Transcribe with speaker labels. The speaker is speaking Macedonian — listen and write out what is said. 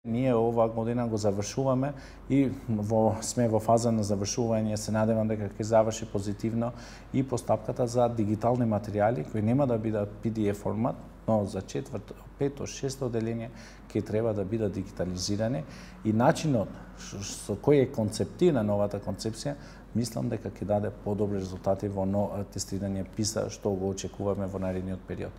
Speaker 1: Ние оваа година го завршуваме и сме во фаза на завршување. Се надевам дека ќе заврши позитивно и постапката за дигитални материјали кои нема да бидат PDF формат, но за 4, 5, 6 одделение ќе треба да бидат дигитализирани и начинот со кој е концептирана новата концепција, мислам дека ќе даде подобри резултати во тестирање PISA што го очекуваме во наредниот период.